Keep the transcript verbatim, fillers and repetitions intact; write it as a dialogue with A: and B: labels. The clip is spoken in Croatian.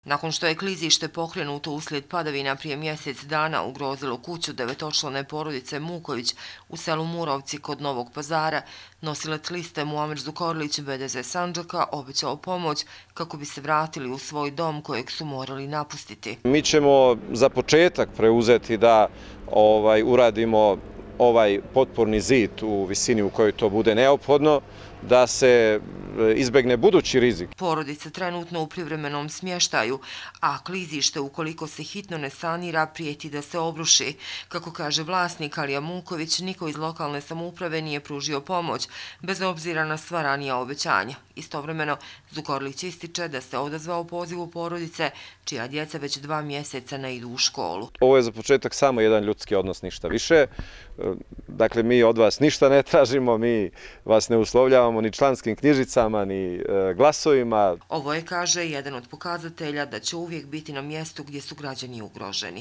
A: Nakon što je klizište pokrenuto uslijed padavina prije mjesec dana ugrozilo kuću devetočlane porodice Muković u selu Murovci kod Novog Pazara, nosilac liste Muamer Zukorlić B D Z Sandžaka obećao pomoć kako bi se vratili u svoj dom kojeg su morali napustiti.
B: Mi ćemo za početak preuzeti da ovaj, uradimo ovaj potporni zid u visini u kojoj to bude neophodno, da se izbegne budući rizik.
A: Porodica trenutno u privremenom smještaju, a klizište ukoliko se hitno ne sanira prijeti da se obruši. Kako kaže vlasnik Alija Muković, niko iz lokalne samouprave nije pružio pomoć, bez obzira na sva ranija obećanja. Istovremeno, Zukorlić ističe da se odazvao pozivu porodice, čija djeca već dva mjeseca ne idu u školu.
B: Ovo je za početak samo jedan ljudski odnos, ništa više. Dakle, mi od vas ništa ne tražimo, mi vas ne uslovljavamo ni članskim knjižicama, ni glasovima.
A: Ovo je, kaže, jedan od pokazatelja da će uvijek biti na mjestu gdje su građani ugroženi.